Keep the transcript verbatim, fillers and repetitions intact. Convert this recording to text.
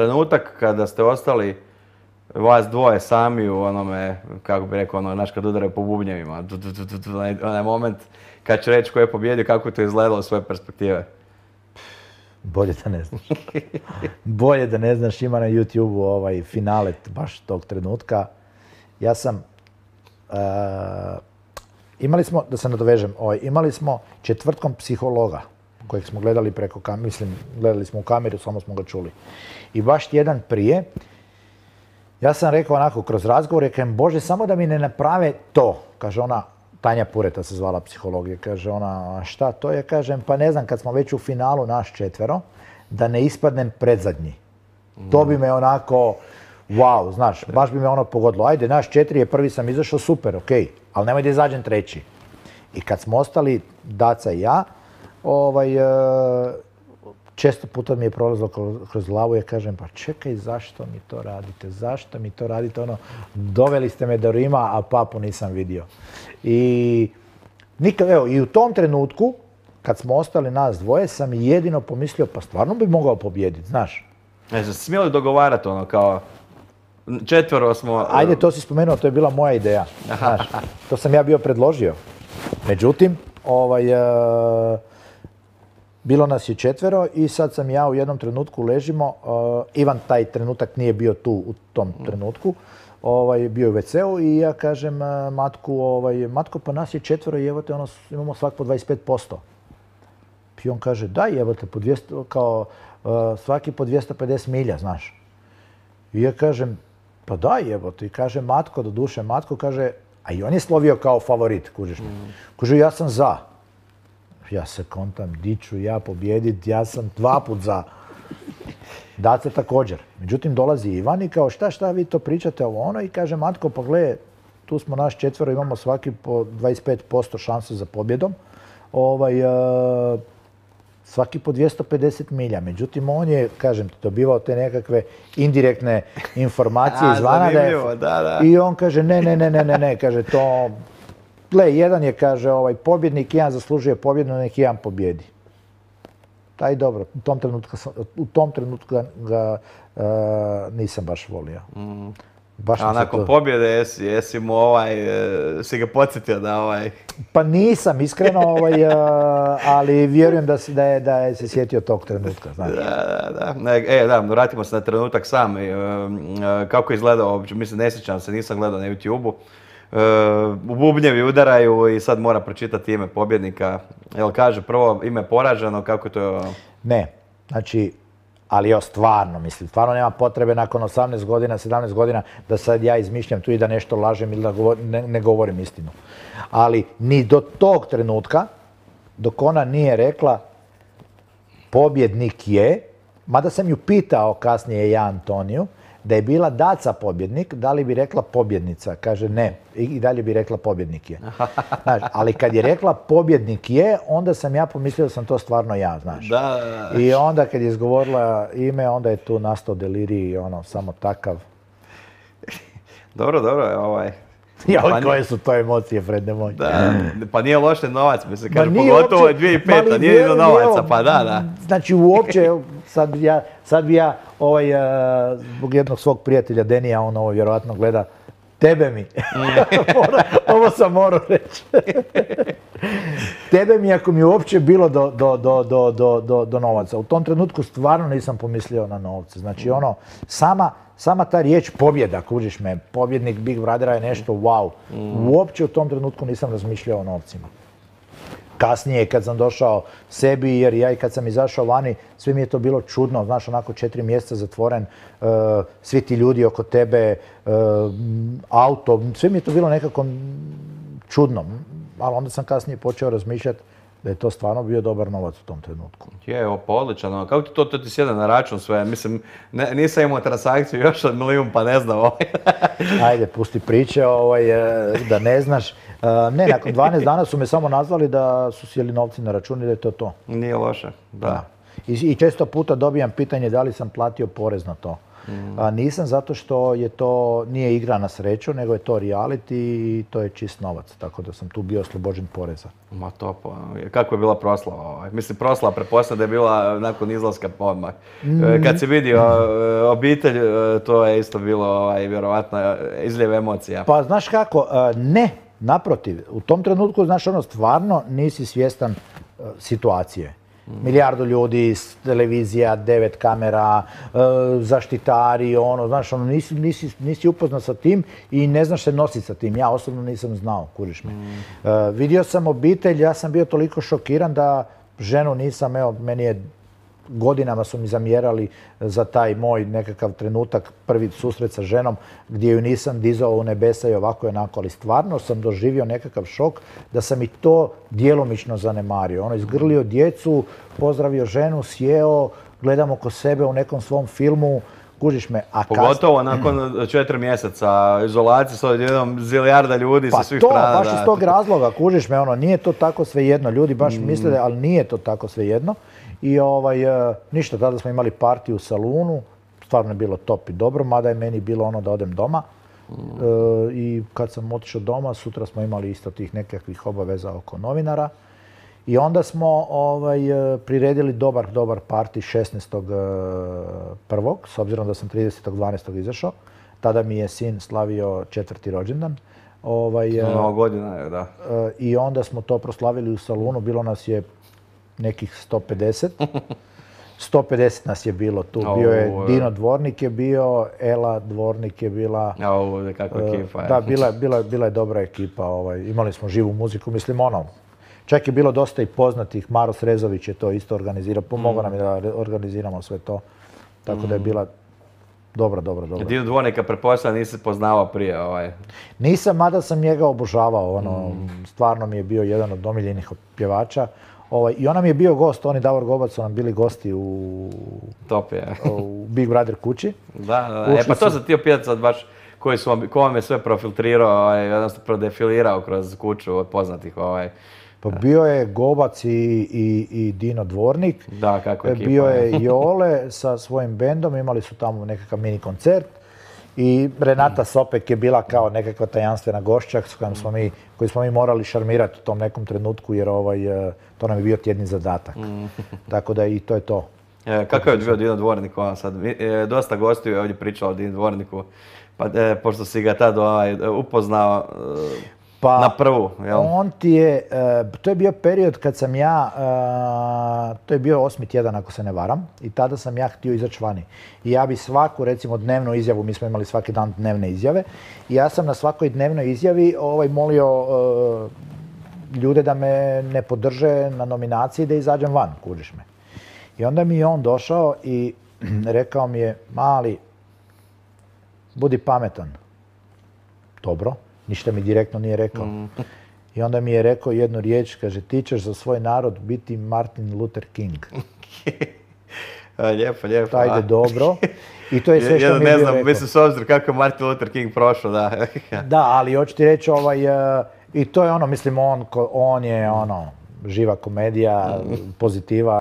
trenutak kada ste ostali vas dvoje sami u onome, kako bi rekao, ono, znaš, kad udaraju po bubnjevima, onaj moment kad će reći ko je pobjedio, kako je to izgledalo iz svoje perspektive? Bolje da ne znaš. Bolje da ne znaš, ima na YouTubeu ovaj finale baš tog trenutka. Ja sam, uh, imali smo, da se nadovežem, ovaj, imali smo četvrtkom psihologa kojeg smo gledali preko kameru, mislim, gledali smo u kameru, samo smo ga čuli. I baš tjedan prije, ja sam rekao onako kroz razgovor, rekajem, Bože, samo da mi ne naprave to, kaže ona, Tanja Pureta se zvala psihologija, kaže ona, šta to je, kažem, pa ne znam, kad smo već u finalu naš četvero, da ne ispadnem predzadnji. Mm. To bi me onako, wow, znaš, baš bi me ono pogodilo. Ajde, naš četiri je prvi sam izašao, super, okej, ali nemoj da izađem treći. I kad smo ostali, Daca i ja, ovaj, često puta mi je prolazilo kroz glavu i kažem, pa čekaj, zašto mi to radite, zašto mi to radite, ono, doveli ste me do Rima, a papu nisam vidio. I nikad, evo, i u tom trenutku, kad smo ostali nas dvoje, sam jedino pomislio, pa stvarno bi mogao pobijediti, znaš. Ne znam, smjeli dogovarati ono, kao, četvero smo... Ajde, to si spomenuo, to je bila moja ideja, znaš, to sam ja bio predložio. Međutim, ovaj... bilo nas je četvero i sad sam ja u jednom trenutku ležimo, uh, Ivan taj trenutak nije bio tu u tom trenutku, ovaj, bio je u ve ce u i ja kažem uh, Matku, ovaj, Matko, pa nas je četvero i evo te, ono, imamo svak po dvadeset pet posto. I on kaže, daj, evo te, po dvjesto, kao, uh, svaki po dvjesto pedeset milja, znaš. I ja kažem, pa daj, evo te, i kaže Matko, do duše Matko, kaže, a i on je slovio kao favorit, kužiš me. Mm. Kaže, ja sam za. Ja se kontam, di ću ja pobjedit, ja sam dva put za. Daca također. Međutim, dolazi Ivan i kao šta, šta vi to pričate ovo ono i kaže Matko, pa gle, tu smo naš četvero, imamo svaki po dvadeset pet posto šanse za pobjedom. Ovaj, uh, svaki po dvjesto pedeset milja. Međutim, on je, kažem ti, dobivao te nekakve indirektne informacije izvana. Da je, da, da. I on kaže, ne, ne, ne, ne, ne, ne, kaže to... Gle, jedan je, kaže, ovaj, pobjednik, jedan zaslužuje pobjedu, nek jedan pobjedi. Taj dobro, u tom trenutku, u tom trenutku ga, ga uh, nisam baš volio. Mm. Baš A nakon to... pobjede jesi, jesi mu ovaj, si ga podsjetio da ovaj... Pa nisam, iskreno, ovaj, uh, ali vjerujem da, si, da, je, da je se sjetio tog trenutka, znaš. Da, da, da. Ne, e, da, vratimo se na trenutak sam. E, kako je izgledao uopće, mislim, ne sjećam se, nisam gledao na YouTubeu. U bubnjevi udaraju i sad mora pročitati ime pobjednika. Jel kaže prvo ime poraženo, kako to je? Ne, znači, ali jo, stvarno, mislim, stvarno nema potrebe nakon osamnaest godina, sedamnaest godina da sad ja izmišljam tu i da nešto lažem ili da govor, ne, ne govorim istinu. Ali ni do tog trenutka, dok ona nije rekla pobjednik je, mada sam ju pitao kasnije ja Antoniju, da je bila Daca pobjednik, da li bi rekla pobjednica? Kaže ne. I dalje bi rekla pobjednik je. Znaš, ali kad je rekla pobjednik je, onda sam ja pomislio da sam to stvarno ja, znaš. Da, da, da. I onda kad je izgovorila ime, onda je tu nastao delirij, ono, samo takav. Dobro, dobro, ovaj... Ja, pa koje su to emocije, Frede moj? Da, pa nije loše novac, mi se kaže, pogotovo je dvije tisuće peta, nije do novaca, pa da, da. Znači, uopće, sad bi ja, sad bi ja ovaj, zbog jednog svog prijatelja Denija, on ovo vjerojatno gleda, tebe mi, ovo sam morao reći, tebe mi ako mi uopće bilo do, do, do, do, do, do, do novaca. U tom trenutku stvarno nisam pomislio na novce. Znači, ono, sama, sama ta riječ pobjeda, kužiš me, pobjednik Big Brothera je nešto wow. Uopće u tom trenutku nisam razmišljao o novcima. Kasnije kad sam došao sebi, jer ja i kad sam izašao vani, sve mi je to bilo čudno, znaš, onako četiri mjeseca zatvoren, uh, svi ti ljudi oko tebe, uh, auto, sve mi je to bilo nekako čudno. Ali onda sam kasnije počeo razmišljati da je to stvarno bio dobar novac u tom trenutku. Je, ovo pa odličan. Kako ti to, to ti sjede na račun sve? Mislim, ne, nisam imao transakciju još od milijun, pa ne znam ovaj. Ajde, pusti priče, ovaj, da ne znaš. Ne, nakon dvanaest dana su me samo nazvali da su sjeli novci na račun i da je to to. Nije loše, da. da. I, I često puta dobijam pitanje da li sam platio porez na to. A nisam zato što je to, nije igra na sreću, nego je to reality i to je čist novac. Tako da sam tu bio oslobođen poreza. Ma to pa, kako je bila proslava? Ovaj? Mislim, proslava pretpostavljam da je bila nakon izlaska odmah. Mm. Kad si vidio obitelj, to je isto bilo ovaj, vjerovatno izljev emocija. Pa znaš kako, ne, naprotiv. U tom trenutku, znaš ono, stvarno nisi svjestan situacije. Milijardu ljudi, televizija, devet kamera, zaštitari, ono, znaš, ono, nisi, nisi, nisi upoznat sa tim i ne znaš se nositi sa tim. Ja osobno nisam znao, kužiš me. Mm. Uh, vidio sam obitelj, ja sam bio toliko šokiran da ženu nisam, evo, meni je godinama su mi zamjerali za taj moj nekakav trenutak, prvi susret sa ženom, gdje ju nisam dizao u nebesa i ovako i onako, ali stvarno sam doživio nekakav šok da sam i to djelomično zanemario. Ono, izgrlio djecu, pozdravio ženu, sjeo, gledam oko sebe u nekom svom filmu, kužiš me. A pogotovo kas... nakon četiri mjeseca izolacije s odjednom zilijarda ljudi pa sa svih to, strana. Pa to, baš iz tog razloga, kužiš me, ono, nije to tako svejedno. Ljudi baš mm. misle, ali nije to tako svejedno. I ovaj, ništa, tada smo imali partiju u salunu, stvarno je bilo top i dobro, mada je meni bilo ono da odem doma. Mm. E, I kad sam otišao doma, sutra smo imali isto tih nekakvih obaveza oko novinara. I onda smo ovaj, priredili dobar, dobar parti šesnaestog prvog s obzirom da sam tridesetog dvanaestog izašao. Tada mi je sin slavio četvrti rođendan. Ovaj, Nova godina je, da. I onda smo to proslavili u salunu, bilo nas je nekih sto pedeset. sto pedeset nas je bilo tu. Bio je Dino Dvornik je bio, Ela Dvornik je bila. Ovo, kakva ekipa je. Da, bila, bila, bila je dobra ekipa. Ovaj, imali smo živu muziku, mislim ono. Čak je bilo dosta i poznatih. Maro Srezović je to isto organizirao. Pomogao nam je da organiziramo sve to. Tako da je bila dobra, dobra, dobra. Dino Dvornika pretpostavljam nisi poznavao prije ovaj? Nisam, mada sam njega obožavao. Ono, mm. Stvarno mi je bio jedan od omiljenih pjevača. Ovaj, I ona mi je bio gost, on i Davor Gobac su nam bili gosti u, top je. u Big Brother kući. Da, da, da. E pa to sam htio pitati sad baš koji su vam, ko vam je sve profiltrirao, ovaj, jednostavno prodefilirao kroz kuću od poznatih ovaj. Pa bio je Gobac i, i, i Dino Dvornik. Da, kako ekipa. Bio je Jole sa svojim bendom, imali su tamo nekakav mini koncert. I Renata Sopek je bila kao nekakva tajanstvena gošća s kojom smo mi, koju smo mi morali šarmirati u tom nekom trenutku jer ovaj, to nam je bio tjedni zadatak. Mm. Tako da i to je to. E, kako je bio Dino Dvornik vam sad? E, dosta gostiju je ovdje pričao o Dino Dvorniku, pa e, pošto si ga tad ovaj, upoznao e, pa, na prvu. Jel? On ti je, e, to je bio period kad sam ja, e, to je bio osmi tjedan ako se ne varam, i tada sam ja htio izaći vani. I ja bi svaku, recimo, dnevnu izjavu, mi smo imali svaki dan dnevne izjave, i ja sam na svakoj dnevnoj izjavi ovaj, molio e, ljude da me ne podrže na nominaciji da izađem van, kužiš me. I onda mi je on došao i rekao mi je, mali, budi pametan. Dobro. Ništa mi direktno nije rekao. Mm. I onda mi je rekao jednu riječ, kaže, ti ćeš za svoj narod biti Martin Luther King. Lijepo, lijepo. Ajde, dobro. I to je sve što ja, mi je bio ne znam, rekao. mislim, s obzirom kako je Martin Luther King prošao, da. Da, ali hoću ti reći, ovaj, uh, i to je ono, mislim, on, on je ono, živa komedija, pozitiva.